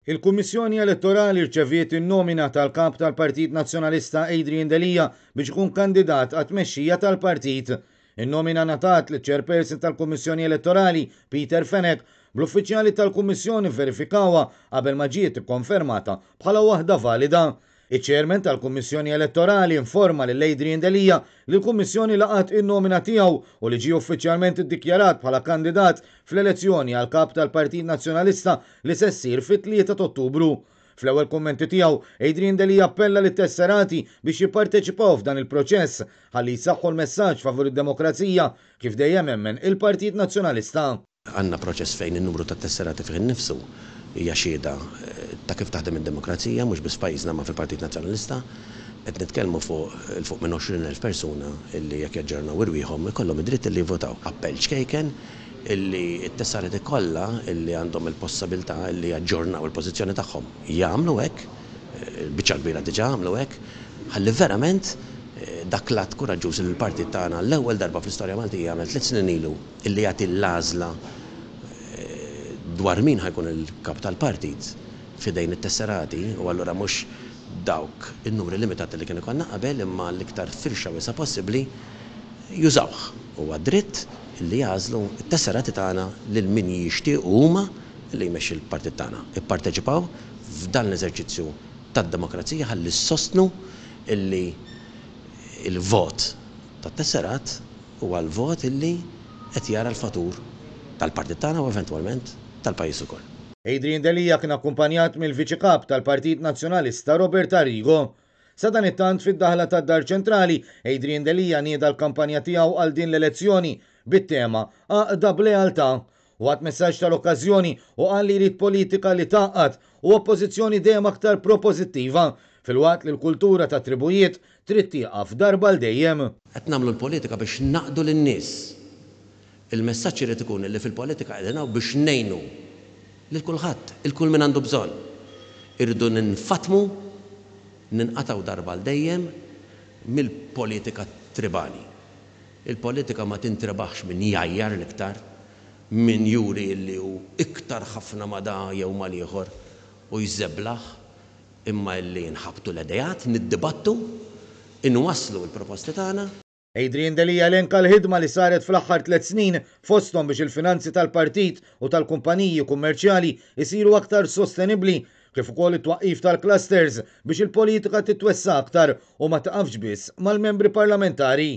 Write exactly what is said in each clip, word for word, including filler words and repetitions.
Il-Kummissjoni Elettorali rċeviet in-nomina tal-kap tal-Partit Nazzjonalista Adrian Delia biex ikun kandidat għat-tmexxija tal-partit. In-nomina ngħatat liċ-chairperson tal-Kummissjoni Elettorali Peter Fenech, bl-uffiċjali tal-Kummissjoni verifikawha qabel ma ġiet ikkonfermata bħala waħda valida. Iċ-chairman tal-Kummissjoni Elettorali informa lil Adrian Delia li l-Kummissjoni laqat in-nomina tiegħu u li ġie uffiċjalment iddikjarat bħala kandidat fl-elezzjoni għal kap tal-Partit Nazzjonalista li se ssir fit-tlieta ta' Ottubru. Fl-ewwel kummenti tiegħu, Adrian Delia appella lit-tesserati biex jipparteċipaw f'dan il-proċess ħalli jsaħħu l-messaġġ favur id-demokrazija kif dejjem emmen il-Partit Nazzjonalista. Għandna proċess fejn in-numru ta' tesserati fih innifsu hija xhieda ta' kif taħdem id-demokrazija, mhux biss pajjiżna ma fil-Partit Nazzjonalista. Qed nitkellmu fuq 'il fuq minn għoxrin elf persuna illi jekk jaġġornaw irwieħhom ikollhom id-dritt illi jivvotaw. Appell ċkejken illi t-tesserati kollha illi għandhom il-possibilità illi jaġġornaw il-pożizzjoni tagħhom jagħmlu hekk, il-biċċa kbira diġà għamlu hekk, ħalli verament dak l-att kuraġġuż li l-partit tagħna l-ewwel darba fl-istorja Maltija għamel tliet snin ilu, illi jagħti l-għażla dwar min ħa jkun il-kap tal-partit f'idejn it-tesserati, u allura mhux dawk in-numri limitati li kienu konna qabel imma l-iktar firxa wiesgħa possibbli jużawh. Huwa dritt li jagħżlu t-tesserati tagħna lil min jixtiequ huma li jmexxi l-partit tagħna. Ipparteċipaw f'dan l-eżerċizzju tad-demokrazija ħalli ssostnu illi il-vot tat-tesserat huwa l-vot illi qed jara l-futur tal-partit tagħna u eventwalment tal-pajjiż ukoll. Adrian Delia kien akkumpanjat mill-Viċi Kap tal-Partit Nazzjonalista Robert Arrigo. Sadanittant, fid-daħla tad-Dar Ċentrali, Adrian Delia nieda l-kampanja tiegħu għal din l-elezzjoni bit-tema "Għaqda b'Lealtà". Waqt messaġġ tal-okkażjoni u qal li jrid politika li tgħaqqad u oppożizzjoni dejjem aktar propożittiva, filwaqt li l-kultura ta' tribujiet trid tieqaf darba għal dejjem. Qed nagħmlu l-politika biex naqdu lin-nies. Il-messaġġ irid ikun li fil-politika qegħdin hawn biex ngħinu lil kulħadd, il kull min għandu bżonn. Irridu ninfatmu, ninqatgħu darba għal dejjem mill-politika tribali. Il-politika ma tintrebaħx min jgħajjar l-iktar, min juri li hu iktar ħafna ma da jew mal-ieħor u jżeblaħ, imma illi nħabtu l-idejat, niddibattu, inwasslu l-proposti tagħna. Adrian Delia elenka l-ħidma li saret fl-aħħar tliet snin, fosthom biex il-finanzi tal-partit u tal-kumpaniji kummerċjali isiru aktar sostenibbli, kif ukoll it-twaqqif tal-clusters biex il-politika titwessa aktar u ma taqafx biss mal-membri parlamentari.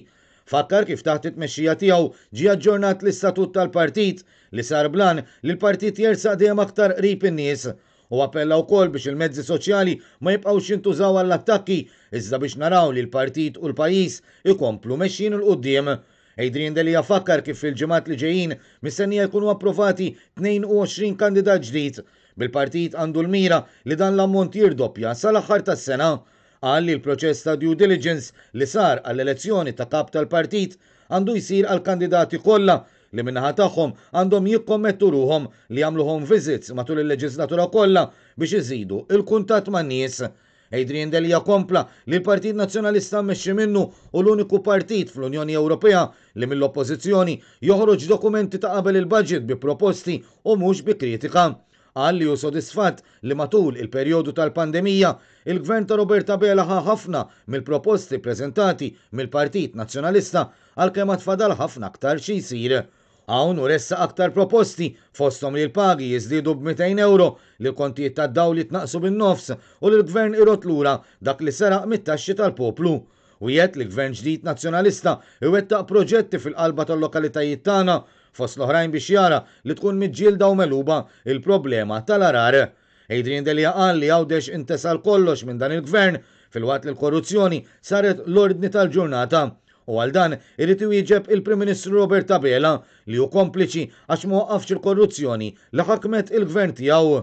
Fakkar kif taħt it-tmexxija tiegħu ġie aġġornat l-istatut tal-partit, li sar bl-għan li l-partit jersaq dejjem aktar qrib in-nies. U appella wkoll biex il-mezzi soċjali ma jibqgħux jintużaw għall-attakki, iżda biex naraw li l-partit u l-pajjiż ikomplu mexjin 'il quddiem. Adrian Delia fakkar kif fil-ġimgħat li ġejjin mistennija jkunu approvati tnejn u għoxrin kandidat ġdid, bil-partit għandu l-mira li dan l-ammont jirdoppja sal-aħħar tas-sena. Qal li l-proċess ta' due diligence li sar għall-elezzjoni ta' kap tal-partit għandu jsir għall-kandidati kollha, li min-naħa tagħhom għandhom jikkommettu ruħhom li jagħmlu home visits matul il-leġislatura kollha biex iżidu il-kuntatt man-nies. Adrian Delia kompla li l-Partit Nazzjonalista mmexxi minnu hu l-uniku partit fl-Unjoni Ewropea li mill-Oppożizzjoni joħroġ dokumenti ta' qabel il-budget bi proposti u mhux bi kritika. Qal li hu sodisfatt li matul il-perjodu tal-pandemija il-gvern ta' Robert Abela ħa ħafna mill-proposti preżentati mill-Partit Nazzjonalista, għalkemm fadal ħafna aktar xi jsir. Hawn u ressaq aktar proposti, fosthom li l-pagi jiżdiedu b'mitejn euro, li l-kontijiet tad-dawl jitnaqsu bin-nofs u li l-gvern irodd lura dak li seraq mit-taxxi tal-poplu. U jgħid li gvern ġdid nazzjonalista iwettaq proġetti fil-qalba tal-lokalitajiet tagħna, fost l-oħrajn biex jara li tkun miġġielda u megħluba il-problema tal-għargħar. Adrian Delia qal li Għawdex intesa kollox minn dan il-gvern, filwaqt li l-korruzzjoni saret l-ordni tal-ġurnata. U għal dan irid iwieġeb il-Prim Ministru Robert Abela, li hu kompliċi għax ma waqqafx il-korruzzjoni li ħakmet il-gvern tiegħu.